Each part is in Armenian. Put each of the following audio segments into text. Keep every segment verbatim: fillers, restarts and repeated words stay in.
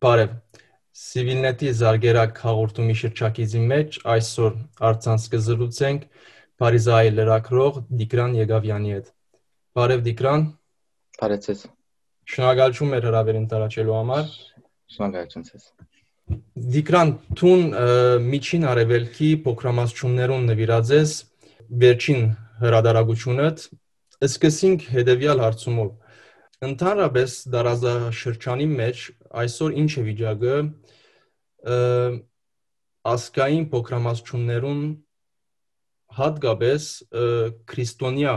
Բարև, Civilnet-ի զարգերակ հաղորդումի շրջակիցի մեջ այսօր առցանց կզրուցենք Փարիզայի լրագրող Դիկրան Եղավյանի հետ։ Բարև Դիկրան։ Բարև ձեզ։ Շնորհակալություն մեր հրավերին տարածելու համար։ Շնորհակալություն ձեզ։ Դիկրան, տուն միջին արևելքի փոքրամասնություններուն նվիրած ես վերջին հրադարագությունդ, սկսենք հետևյալ հարցումով։ Ընդհանրապես դարաշրջանի մեջ այսօր ինչ է վիճակը ազգային փոքրամասնություններուն հատկապես քրիստոնյա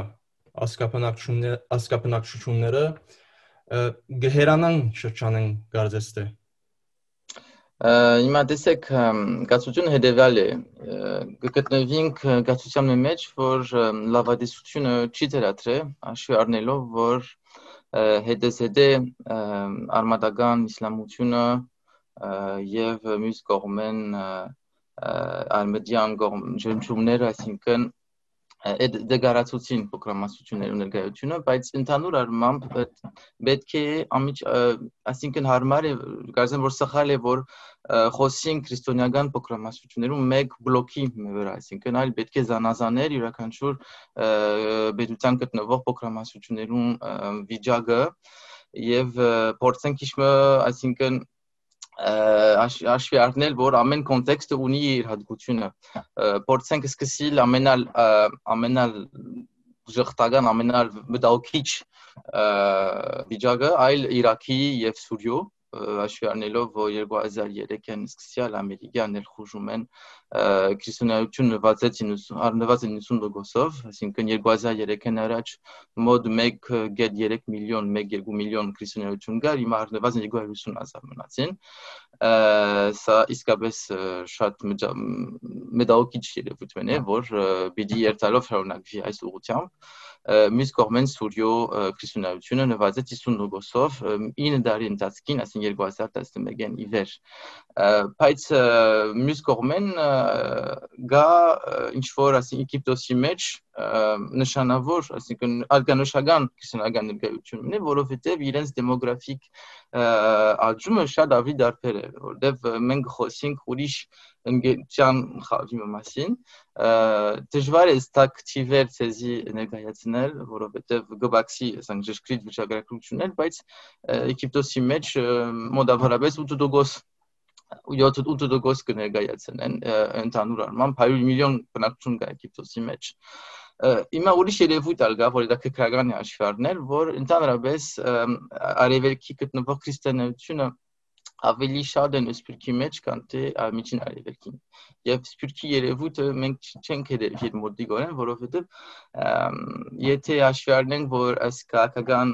ազգաբնակչությունները գհերանան շրջանեն կարծես թե։ Հիմա տեսեք, գացությունը հետևյալ է, կգտնվենք գացության մեջ, որ լավադեսությունը չի դրատրե, հաշվի առնելով, որ հետզհետե արմատական իսլամությունը եւ մյուս կողմեն արմեդյան ջնջումները, այսինքն դեգարացուցին փոքրամասնությունների ներկայությունը, բայց ընդհանուր առմամբ պետք է ամիջ, այսինքն հարմար է, կարծեմ որ սխալ է, որ խոսին քրիստոնեական փոքրամասնություններում մեկ բլոկի վրա, այսինքն այլ պետք է զանազաներ յուրաքանչյուր պետության գտնվող փոքրամասնություններում վիճակը եւ փորձենք իշմը, այսինքն հաշվի առնել, որ ամեն կոնտեքստը ունի իր հատկությունը, փորձենք սկսել ամենալ ամենալ ժխտական, ամենալ մտահոգիչ վիճակը այլ Իրաքի եւ Սուրիո, հաշվի առնելով, որ երկու հազար երեքին սկսյալ ամերիկյան ներխուժում են քրիստոնեություն նվազեց իննսուն տոկոսով, այսինքն երկու հազար երեքին առաջ մոտ մեկ գետ երեք միլիոն, մեկ երկու միլիոն քրիստոնեություն կար, հիմա առնվազն երկու հարյուր ութսուն հազար մնացին, սա իսկապես շատ մտահոգիչ երևույթ է, որ պիտի երթալով շարունակվի այս ուղղությամբ, մյուս կողմեն Սուրիո քրիստոնեությունը նվազեց հիսուն տոկոսով ինը տարի ընթացքին, այսինքն երկու հազար տասնմեկին ի վեր, բայց մյուս կողմեն գա ինչ-որ Եգիպտոսի մեջ նշանավոր, այսինքն արգանշական քրիստոնեական ներկայություն ունի, որովհետև իրենց դեմոգրաֆիկ աճումը շատ ավելի դարբեր է, որտեղ մենք խոսենք ուրիշ ընկերության խավի մասին, դժվար է ստակ թիվեր ցեզի ներկայացնել, որովհետև գբաքսի ասենք ճշգրիտ վիճակագրություններ, բայց Եգիպտոսի մեջ մոտավորապես ութ տոկոս յոթ տոկոս կներկայացնեն ընդհանուր առմամբ հարյուր միլիոն բնակչություն կա Եգիպտոսի մեջ։ Հիմա ուրիշ երևույթ ալ կա, որ դա քրական է հաշվի առնել, որ ընդհանրապես արևելքի գտնվող քրիստոնեությունը ավելի շատ են սփյուռքի մեջ, քան թե միջին արևելքին։ Եվ սփյուռքի երևույթը մենք չենք հետևել մոտիկորեն, որովհետև եթե հաշվի առնենք, որ այս քաղաքական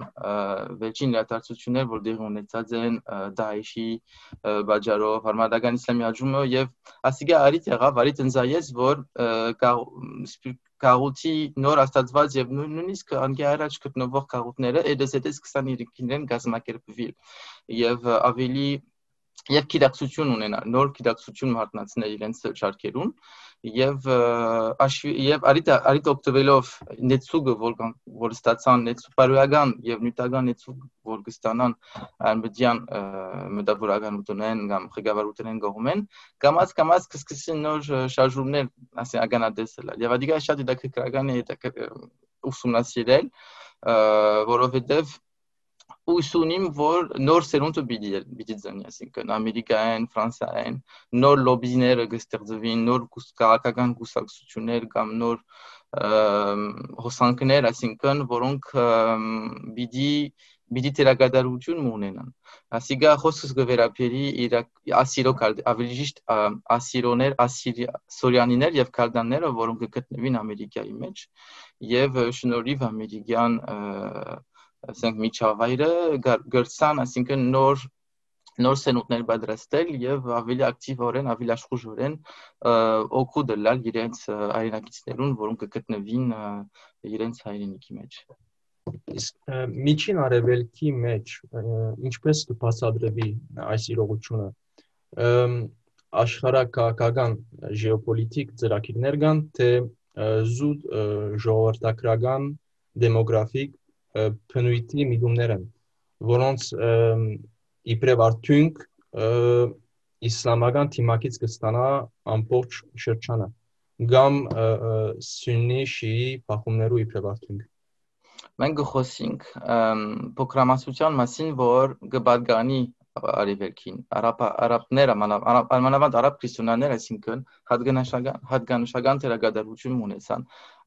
վերջին իրադարձություններ, որ դեղի ունեցած են Դաեշի բաժարով, արմատական իսլամի աճումը եւ ասիկա արիտ եղավ, արիտ ընձայեց, որ քաղուտի նոր աստածված եւ նույնիսկ անկի առաջ գտնվող քաղուտները հետզհետե սկսան իրեն գազմակերպվել եւ ավելի եւ գիտակցություն ունենալ, նոր գիտակցություն մարտնացնել իրենց շարքերուն եւ եւ արիտ արիտ օգտվելով նեցուգը, որ որ ստացան նեցուպարոյական եւ նյութական նեցուգ, որ կստանան արմեդյան մտավորականությունեն կամ ղեկավարութենեն կողմեն, կամած կամած կսկսեն նոր շարժումներ, ասեն ականադեսել եւ ադիգա շատ դիտակրական է ուսումնասիրել, որովհետեւ ուսունիմ, որ նոր սերունդը պիտի ծնի, այսինքն Ամերիկայեն, Ֆրանսիայեն, նոր լոբիները կստեղծվին, նոր քաղաքական կուսակցություններ կամ նոր հոսանքներ, այսինքն, որոնք պիտի պիտի թերակատարություն ունենան։ Ասիկա խոսքս կվերապերի ասիրո ավելի ճիշտ ասիրոներ, ասիրիանիներ եւ քալդանները, որոնք կգտնվին Ամերիկայի մեջ եւ շնորհիվ ամերիկյան ասենք միջավայրը գրցան, այսինքն նոր նոր սենուտներ պատրաստել եւ ավելի ակտիվորեն, ավելի աշխուժորեն օգուտ դալ իրենց հայրենակիցներուն, որոնք կգտնվին իրենց հայրենիքի մեջ։ Իսկ միջին արևելքի մեջ ինչպես կբացատրվի այս իրողությունը։ Աշխարհակաղակական ժեոպոլիտիկ ծրագիրներ կան, թե զուտ ժողովրդական դեմոգրաֆիկ բնույթի միտումներ են, որոնց իբրև արդյունք իսլամական թիմակից կստանա ամբողջ շրջանը կամ սուննի շիի փախումներու իբրև արդյունք։ Մենք գխոսենք փոքրամասնության մասին, որ կբարգանի արևելքին, արաբները, մանավանդ արաբ քրիստոնյաներ, այսինքն հատկանշական թերագադարություն ունեցան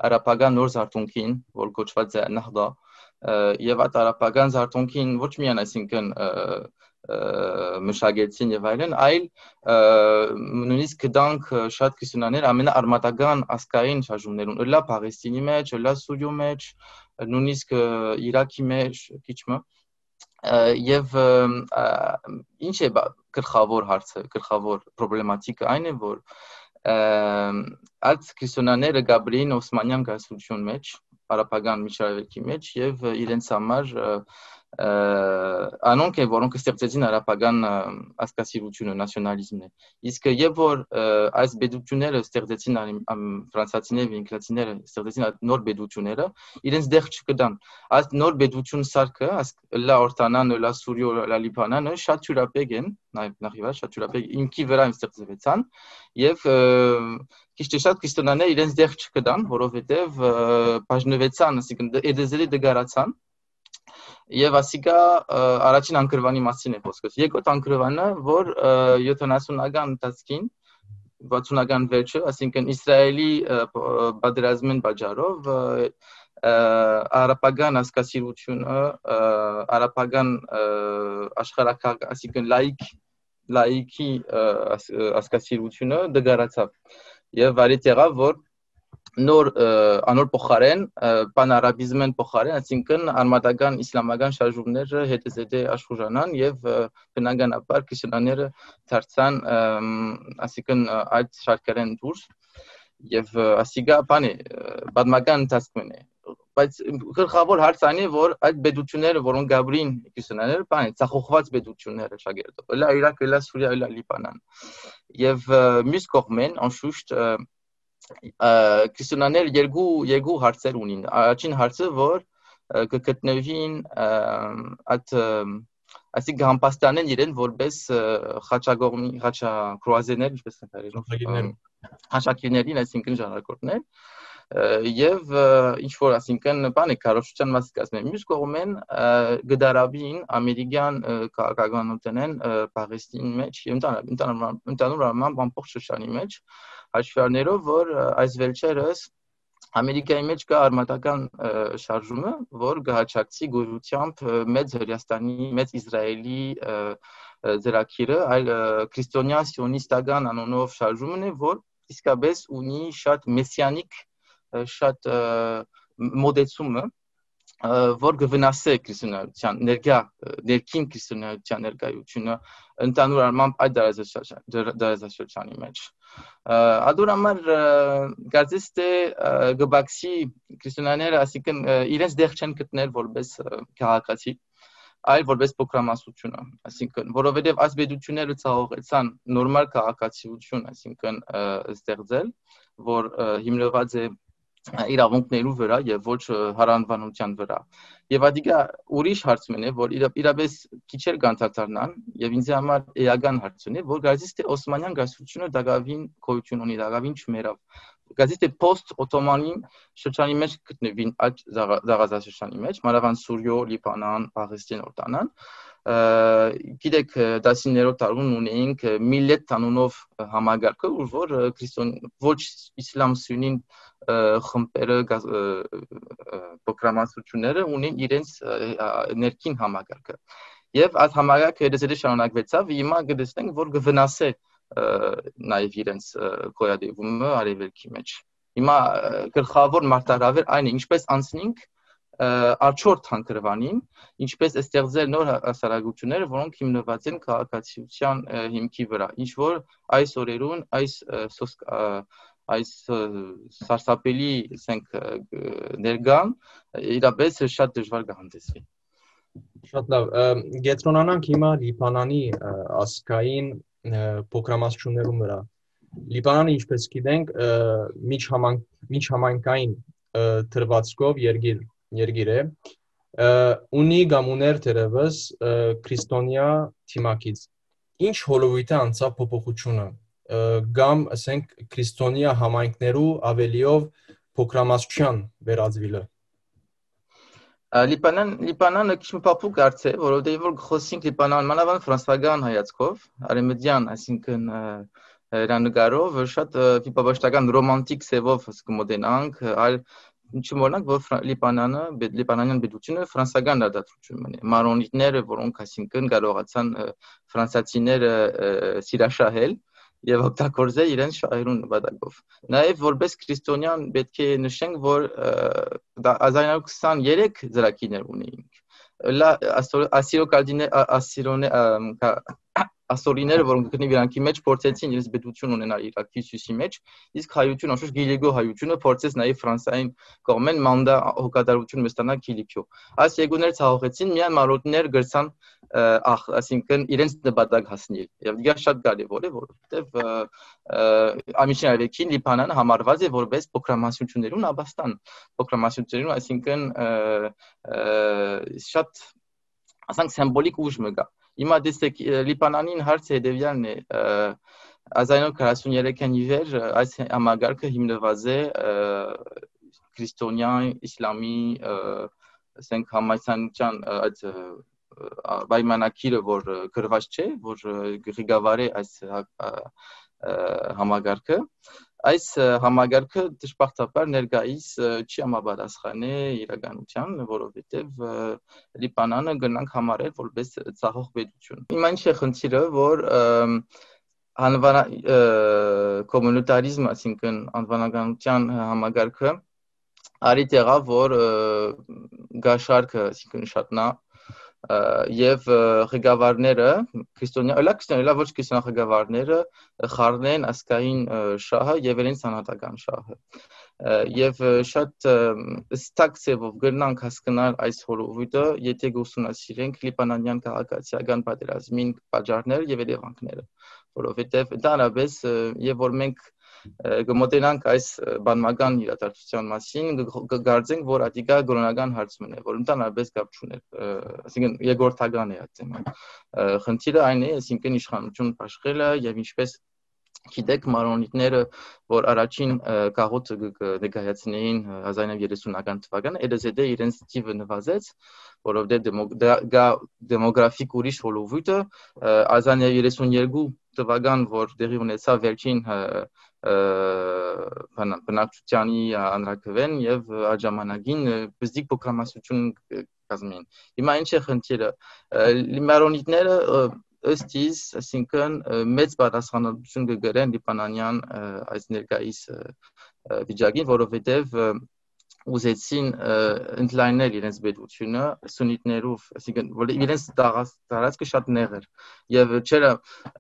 արաբական նոր զարթոնքին, որ կոչված է Նահդա, եւ այդ արաբական զարթոնքին ոչ միայն այսինքն մշակեցին եւ այլն, այլ նույնիսկ կդանք շատ քրիստոնյաներ ամենաարմատական ազգային շարժումներուն, ըլլա Փաղեստինի մեջ, ըլլա Սուրիո մեջ, նույնիսկ Իրաքի մեջ, քիչմը եւ ինչ է գլխավոր հարցը, գլխավոր պրոբլեմատիկը այն է, որ այդ քրիստոնյաները գաբրին Օսմանյան կայսրություն մեջ, արաբական միջավայրի մեջ եւ իրենց համար անոնք են, որոնք ստեղծեցին արաբական ազգասիրությունը, նացիոնալիզմն է։ Իսկ երբ որ այս բեդությունները ստեղծեցին ֆրանսիացիները, անգլիացիները ստեղծեցին այդ նոր բեդությունները, իրենց դեղ չկդան։ Այս նոր բեդություն սարքը, լա Օրտանան, լա Սուրիո, լա Լիբանանը շատ թյուրապեկ են, նախիվար շատ թյուրապեկ ինքի վրա ստեղծվեցան եւ քիչ թե շատ քրիստոնյաները իրենց դեղ չկդան, որովհետեւ բաժնվեցան, ասիկն էդեզելի դգարացան եւ ասիկա առաջին անկրվանի մասին է խոսքս։ Երկրորդ անկրվանը, որ յոթանասունական ընթացքին, վաթսունական վերջը, ասինքն Իսրայելի պատերազմին պատճառով արաբական ազգասիրությունը, արաբական աշխարհակարգ, ասինքն լայք լայքի ազգասիրությունը դգարացավ եւ արիտ եղավ, որ նոր անոր փոխարեն պանարաբիզմեն փոխարեն, այսինքն արմատական իսլամական շարժումները հետզհետե աշխուժանան եւ բնականաբար քրիստոնյաները դարձան, այսինքն այդ շարքերեն դուրս եւ ասիգա բանը բադմական ընթացքն է, բայց գլխավոր հարցը այն է, որ այդ բեդությունները, որոնք գաբրին քրիստոնյաները, բանը ցախոխված բեդությունները շագերտով, լա Իրաք, լա Սուրիա, լա Լիբանան եւ մյուս կողմեն անշուշտ քրիստոնյաները երկու երկու հարցեր ունին։ Առաջին հարցը, որ կգտնվին այդ այսինքն համապաստանեն իրեն որպես խաչագողմի, խաչակրուազերներ, ինչպես են հայերեն, խաչակիրներին, այսինքն ժանրակորդներ, եւ ինչ որ այսինքն բանը քարոշչության մաս կազմեն։ Մյուս կողմեն գդարաբին ամերիկյան քաղաքականությունն Փաղեստինի մեջ եւ ընդհանուր առմամբ ամբողջ շրջանի մեջ հաշվառներով, որ այս վերջերս Ամերիկայի մեջ կա արմատական շարժումը, որ գահաճակցի գոյությամբ մեծ Հրեաստանի, մեծ Իսրայելի ծրագիրը, այլ քրիստոնյա սիոնիստական անոնով շարժումն է, որ իսկապես ունի շատ մեսիանիկ, շատ մոդեցումը, որ կվնասե քրիստոնեության ներկա ներքին քրիստոնեության ներկայությունը ընդհանուր առմամբ այդ դարաշրջանի մեջ։ Ադուր համար կարծես թե գբաքսի քրիստոնյաները ասիկն իրենց դեղ չեն գտնել որպես քաղաքացի, այլ որպես փոքրամասնություն, այսինքն որովհետև այս բեդությունները ցավեցան նորմալ քաղաքացիություն, այսինքն ստեղծել, որ հիմնված է իրավունքներու վրա եւ ոչ հարանվանության վրա։ Եվ ադիգա ուրիշ հարցն է, որ իրապես քիչեր կանցածառնան եւ ինձ համար էական հարցն է, որ գազից թե Օսմանյան գայսրությունը դակավին գոյություն ունի, դակավին չմերավ։ Գազից թե post օտոմանի շրջանի մեջ գտնվին այդ զաղազաշրջանի մեջ, մանավանդ Սուրիո, Լիբանան, Փաղեստին, Օրտանան, գիտեք դասիներորդ տարում ունեինք միլլետ անունով համագարկը, որ քրիստոն ոչ իսլամ սունին խմբերը փոքրամասնությունները ունեն իրենց ներքին համագարկը։ Եվ այդ համագարկը հետզհետե շարունակվեցավ, հիմա կտեսնենք, որ կվնասե նաև իրենց գոյատևումը արևելքի մեջ։ Հիմա գլխավոր մարտահրավեր այն է, ինչպես անցնենք Աչորդ հանգրվանին, ինչպես ստեղծել նոր հասարակությունները, որոնք հիմնված են քաղաքացիության հիմքի վրա, ինչ որ այս օրերուն այս այս սարսափելի ասենք ներգան իրապես շատ դժվար կհանդեսվի։ Շատ լավ, գետրոնանանք հիմա Լիբանանի ազգային փոքրամասնություններու վրա։ Լիբանանը, ինչպես գիտենք, միջհամայնքային թրվածքով երկիր երկիր է, ունի կամ ուներ դերևս քրիստոնյա թիմակից։ ինչ հոլովույթ է անցավ փոփոխությունը կամ ասենք քրիստոնյա համայնքներու ավելիով փոքրամասնության վերածվելը։ Լիբանան Լիբանանը քիչ փափուկ արծ է, որովհետեւ որ խոսենք Լիբանան մանավանդ ֆրանսիական հայացքով, արեմեդյան, այսինքն հերանեկարով շատ ֆիբաբաշտական ռոմանտիկ սևով կմոտենանք, այլ ինչու մորնանք, որ Լիբանանը, Լիբանանյան պետությունը ֆրանսիական դատացություն ունի։ Մարոնիտները, որոնք այսինքն կարողացան ֆրանսիացիները սիրաշահել եւ օգտագործել իրենց շահերուն նպատակով։ Նաեւ որպես քրիստոնյան պետք է նշենք, որ հազար իննսուն քսաներեք ծրագիրներ ունեինք։ Լա ասիրո կալդիներ ասիրոնե ասորիները, որոնք գտնի իրանքի մեջ փորձեցին իրենց պետություն ունենալ Իրաքի հյուսիսի մեջ, իսկ հայությունը, անշուշտ Գիլիգո հայությունը փորձեց նաեւ Ֆրանսիային կողմեն մանդա հոգատարություն ստանալ Գիլիգո։ Այս երկուները ցաղողեցին, միայն մարոդներ գրցան ախ, այսինքն իրենց նպատակ հասնել։ Եվ դա շատ կարևոր է, որովհետեւ ամիսին արևելքին Լիբանանը համարված է որպես փոքրամասնություններուն Աբաստան, փոքրամասնություններուն, այսինքն շատ ասենք սիմվոլիկ ուժ մը գա։ Հիմա դեսեք Լիբանանին հարցը հետևյալն է, հազար իննսուն քառասուններեքին ի վեր այս համագարկը հիմնված է քրիստոնյա իսլամի ասենք համայնության այդ պայմանակիրը, որ գրված չէ, որ ղեկավարի այս համագարկը, այս համագարկը դժբախտաբար ներկայիս չի համապատասխանի իրականության, որովհետև Լիբանանը գնանք համարել որպես ցախող պետություն։ Հիմա ինչ է խնդիրը, որ անվան կոմունիտարիզմ, այսինքն անվանականության համագարկը արի տեղավ, որ գաշարքը, այսինքն շատնա եւ ղեկավարները քրիստոնյա, այլ քրիստոնյա ոչ քրիստոնյա ղեկավարները խառնեն ասկային շահը եւ իրենց անհատական շահը։ Եվ շատ ստակ ծևով գնանք հասկանալ այս հոլովույթը, եթե գուսումնասիրենք լիբանանյան քաղաքացիական պատերազմին պատճառները եւ երևանքները, որովհետեւ ընդհանրապես եւ որ մենք գմոտենանք այս բանական իրադարձության մասին, կգարձենք, որ ադիկա գոնական հարցում է, որ ընդհանրապես կապ չուներ, այսինքն երկրորդական է այդ թեման։ Խնդիրը այն է, այսինքն իշխանություն աշխելը եւ ինչպես գիտեք մարոնիտները, որ առաջին գաղութը ներկայացնեին հազար իննսուն երեսունական թվականը, երեսեդե իրենց թիվը նվազեց, որովհետեւ դեմոգրաֆիկ ուրիշ հոլովույթը հազար իննսուն երեսունյերկու թվական, որ տեղի ունեցավ վերջին բնակչությանի հանրաքվեն եւ այդ ժամանակին բզդիկ փոքրամասնություն կազմին։ Հիմա ինչ է խնդիրը։ Մարոնիտները ըստ իս, այսինքն մեծ պատասխանատվություն կգրեն լիբանանյան այս ներկայիս վիճակին, որովհետև ուզեցին ընդլայնել իրենց պետությունը սուննիտներով, այսինքն որ իրենց տարածքը շատ նեղ էր եւ չէր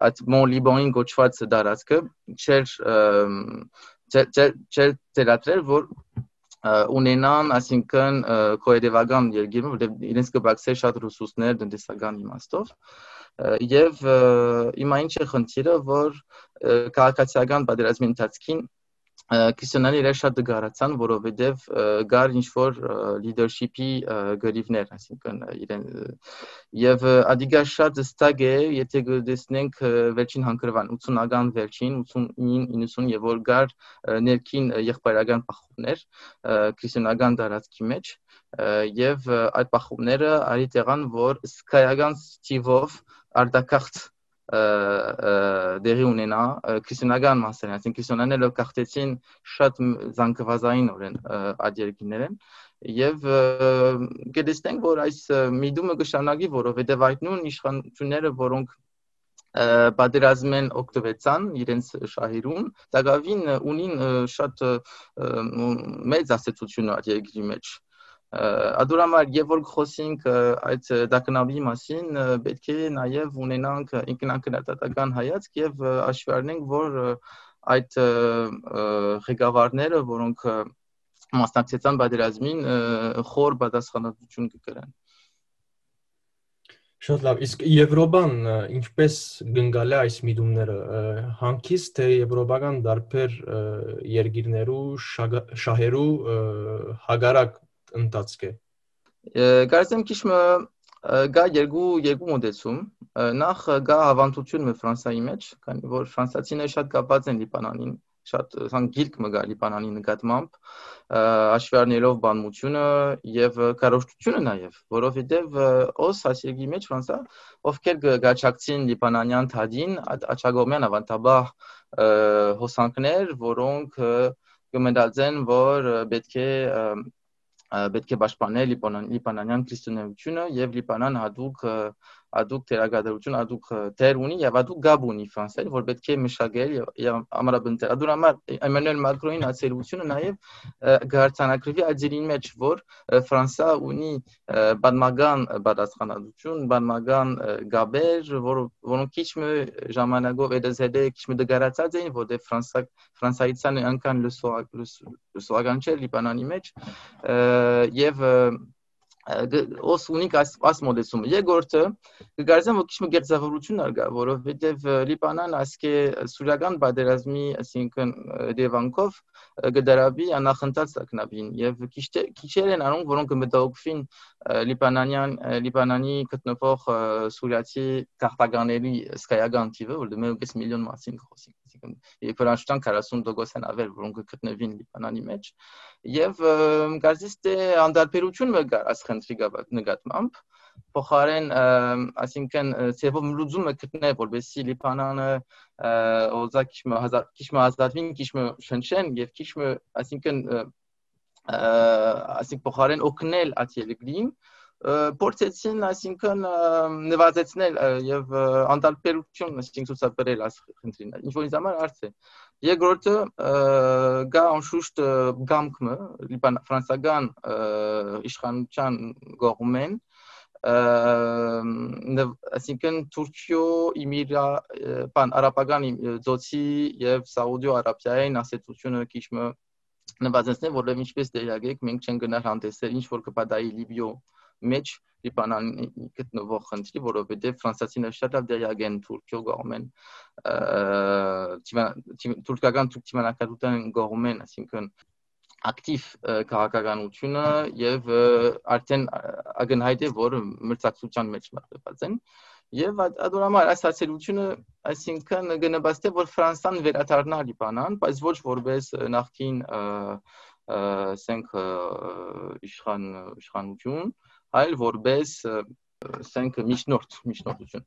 այդ Մոն Լիբանին գոչված տարածքը չէր չէր դերատրել, որ ունենան, այսինքն կոեդևական երկիրը, որտեղ իրենց կբացեր շատ ռեսուրսներ տնտեսական իմաստով եւ հիմա ինչ է խնդիրը, որ քաղաքացիական պատերազմի ընթացքին քրիստոնյաները շատ դգարացան, որովհետեւ գար ինչ-որ լիդերշիփի գրիվներ, այսինքն իրեն եւ ադիգա շատ ստակ է, եթե գտեսնենք վերջին հանգրվան ութսունական վերջին ութսունինը իննսուն եւ որ գար ներքին եղբայրական պախումներ քրիստոնական տարածքի մեջ եւ այդ պախումները արի տեղան, որ սկայական ստիվով արտակախտ դերի ունենա քրիստոնական մասերն, այսինքն քրիստոնյաները կախտեցին շատ զանգվածային օրեն այդ երկիներեն եւ կդեսնենք, որ այս միդումը կշարունակի, որովհետեւ այդ նույն իշխանությունները, որոնք պատերազմեն օգտվեցան իրենց շահերուն, դակավին ունին շատ մեծ ասացություն այդ երկրի մեջ։ Ադուրամար եւ որ խոսենք այդ դակնաբի մասին, պետք է նաեւ ունենանք ինքնակրատական հայացք եւ հաշվի առնենք, որ այդ ղեկավարները, որոնք մասնակցեցան պատերազմին, խոր պատասխանատվություն կկրեն։ Շատ լավ, իսկ Եվրոպան ինչպես գնկալ է այս միտումները, հանգիստ թե եվրոպական դարբեր երկիրներու շահերու հագարակ ընթացք է։ Կարծեմ քիչ Գա երկու երկու մոդեցում նախ գա հավանթությունը Ֆրանսիայի մեջ, քանի որ ֆրանսիացիները շատ կապված են Լիբանանին, շատ սան գիրք մը գա Լիբանանի նկատմամբ, հաշվի առնելով բանությունը եւ կարողությունը նաեւ, որովհետեւ օս ասիգի մեջ Ֆրանսա ովքեր գաչակցին Լիբանանյան թադին, աչագոմյան ավանդաբար հոսանքներ, որոնք կմտածեն, որ պետք է պետք է պաշտպանել լիբանանյան քրիստոնեությունը եւ Լիբանան հատուկ հատուկ թերագադրություն, հատուկ թեր ունի եւ հատուկ գաբ ունի Ֆրանսիայում, որ պետք է մշակել եւ ամրապնդել։ Ադուրամար Էմանուել Մակրոնին ացելությունը նաեւ գարցանակրվի աջերին մեջ, որ Ֆրանսա ունի բանմագան պատասխանատվություն, բանմագան գաբեր, որոնք քիչ մը ժամանակով էդեզեդե քիչ մը դգարացած էին, որտեղ Ֆրանսա Ֆրանսայցան անկան լուսոական չէ Լիբանանի մեջ եւ օս ունիկ աս մոդեցումը երկրորդը կգարձեմ որ քիչ մը գերձավորություն արգա որովհետեւ Լիբանան ասկե սուրիական պատերազմի այսինքն դեվանկով գդարաբի անախընթաց ակնաբին եւ քիչեր են անոնք որոնք մտահոգվին լիբանանյան լիբանանի գտնվող սուրիացի քաղաքականների սկայական թիվը որ մեկ միլիոն մասին խոսենք այսինքն եփրանշտան քառասուն տոկոս են ավել որոնք գտնվին Լիբանանի մեջ եւ կարծես թե անդարբերություն մը գար ասխնդրի նկատմամբ փոխարեն այսինքն ծեվով լուծումը գտնել որովհետեւ Լիբանանը օզա քիչ մը քիչ մը ազատվին քիչ մը շնչեն եւ քիչ մը այսինքն այսինքն փոխարեն օգնել աթելգրին փորձեցին այսինքն նվազեցնել եւ անդարբերություն այսինքն ցուցաբերել ասխնդրին ինչ որ ինձ համար արծ է երկրորդը գա անշուշտ գամքը Լիբան ֆրանսական իշխանության կողմեն այսինքն Թուրքիո իմիրա բան արաբական ծոցի եւ Սաուդիո Արաբիային ասեցությունը քիչ մը նվազեցնել որովհետեւ ինչպես դերակեք մենք չենք գնալ հանդեսել ինչ որ կպատահի Լիբիո մեջ Լիբանանի գտնվող խնդրի որովհետեւ ֆրանսիացիները շատ լավ դերակեն Թուրքիո կողմեն թուրքական թուրքմանակատության կողմեն այսինքն ակտիվ քաղաքականությունը եւ արդեն ագնահայտ է որ մրցակցության մեջ մտնված են եւ ադորամար այս ասելությունը այսինքն գնաբաստե որ Ֆրանսան վերադառնա Լիբանան բայց ոչ որպես նախքին ասենք իշխան իշխանություն այլ որպես ասենք միջնորդ միջնորդություն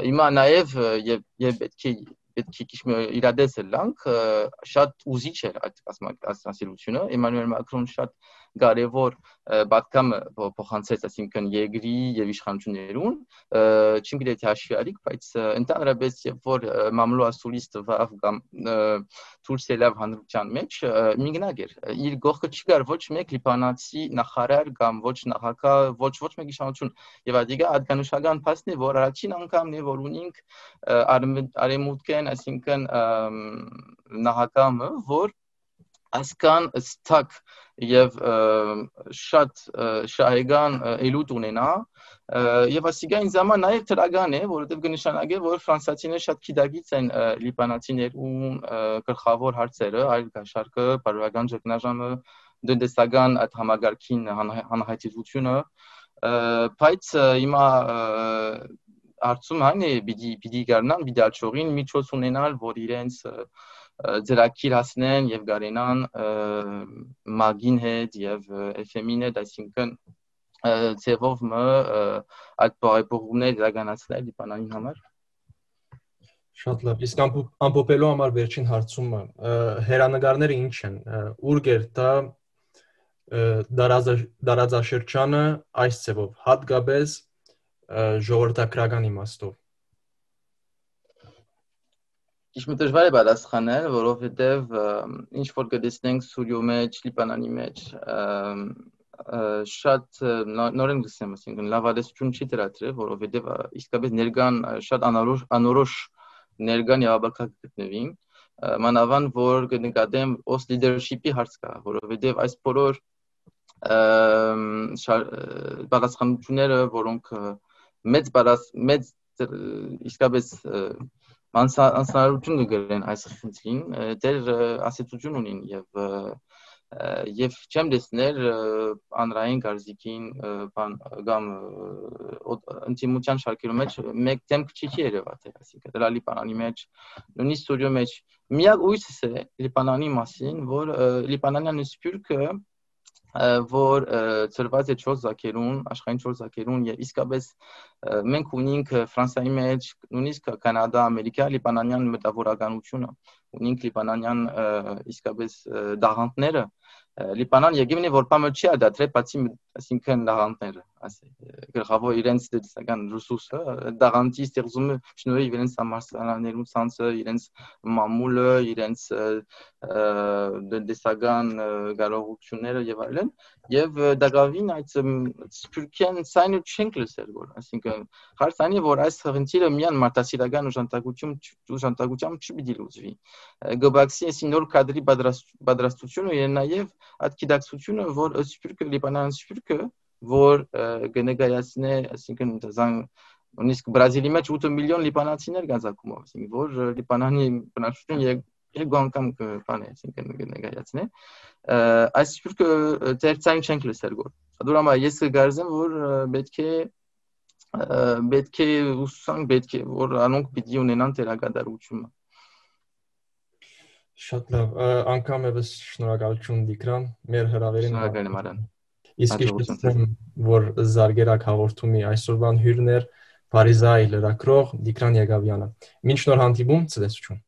հիմա նաեւ եւ եւ պետք է պետք է քիչ իրադեսը լանք շատ ուզիչ էր այդ ասացելությունը Էմանուել Մակրոն շատ կարևոր պատկամը փոխանցեց այսինքն երկրի եւ իշխանություններուն չգիտեմ թե հաշվի արիք բայց ընդհանրապես երբ որ մամլո ասուլիստ վավ կամ թուրքիայի հանրության մեջ միգնակ էր իր գողքը չկար ոչ մեկ լիբանանցի նախարար կամ ոչ նախագահ ոչ ոչ մեկ իշխանություն եւ այդիկա ադկանշական փաստն է որ առաջին անգամն է որ ունենք արեմուտքեն այսինքն նախագահը որ ասկան ստակ եւ շատ շահեգան ելույթ ունենա եւ ասիկա ինձ համար նաեւ թրագան է որովհետեւ կնշանակե որ ֆրանսիացիները շատ քիդագից են լիբանանցիներուն գլխավոր հարցերը այլ գաշարկը բարոյական ճգնաժամը դնդեսական այդ համագարկին հանհայտությունը բայց հիմա արծում այն է պիտի պիտի գարնան պիտի աչողին միջոց ունենալ որ իրենց ձերակիր հասնեն եւ գարենան մագին հետ եւ էֆ էմ-ին հետ այսինքն ծեվով մը այդ բարեփոխումները իրականացնել Լիբանանի համար Շատ լավ իսկ ամփոփելու համար վերջին հարցումը հերանեկարները ինչ են ուր գերտա դարաձաշրջանը այս ծեվով հատկապես ժողովրդական իմաստով Ինչ մտժվար է պատասխանել, որովհետև ինչ որ կտեսնենք Սուրիո մեջ, Լիբանանի մեջ, շատ նոր են գսեմ, ասինքն լավադեսություն չի դրատրել, որովհետև իսկապես ներկան շատ անորոշ անորոշ ներկան явաբակակ գտնվին, մանավանդ որ կնկատեմ ոս լիդերշիպի հարց կա, որովհետև այս բոլոր պատասխանությունները, որոնք մեծ մեծ իսկապես անսանրություն կգրեն այս խնդրին, դեր ասեցություն ունին եւ Եվ չեմ տեսներ անրային գարզիկին բան կամ ինտիմության շարքերու մեջ մեկ դեմք չի երևաց, այսինքն դրա Լիբանանի մեջ նույնիսկ ստուդիո մեջ միակ ույսս է Լիբանանի մասին, որ Լիբանանյան սփյուռքը որ ծրված է չորս զաքերուն, աշխարհին չորս զաքերուն եւ իսկապես մենք ունենք Ֆրանսիայի մեջ, նույնիսկ Կանադա, Ամերիկա, Լիբանանյան մտավորականությունը, ունենք Լիբանանյան իսկապես դաղանտները, Լիբանան եկիմն է որ բամը չի ադատրե, բացի այսինքն դաղանտները, ասե գլխավոր իրենց դեսական ռեսուրսը, դաղանտի ստեղծումը շնորհիվ իրենց համալսարաններու ցանցը, իրենց մամուլը, իրենց դեսական կարողությունները եւ այլն, եւ դակավին այդ սփյուռքեն ցայնը չենք լսել որ, այսինքն հարցանի որ այս խնդիրը միան մարտահրավերական ուժանտակություն ուժանտակությամբ չպիտի լուծվի, գոբաքսի այսի նոր կադրի պատրաստությունը եւ նաեւ այդ գիտակցությունը որ սփյուռքը Լիբանան սփյուռքը որ գնեգայացնե այսինքն դզան նույնիսկ Բրազիլի մեջ ութ միլիոն լիբանանցիներ կան զակումով, այսինքն որ Լիբանանի բնակչությունը երկու անգամ բան է, այսինքն գնեգայացնե այս սփյուռքը ծերծային չենք լսել որ դուրամա ես կգարձեմ որ պետք է պետք է ուսանք պետք է որ անոնք պիտի ունենան դերակատարությունը Շատ լավ, անգամ եւս շնորհակալություն Դիկրան, մեր հրավերին Շնորհակալ եմ Արան։ Իսկ իշխեցեմ, որ զարգերակ հաղորդումի այսօրվան հյուրն էր Փարիզայի լրագրող Դիկրան Եղավյանը։ Մինչ նոր հանդիպում, ցտեսություն։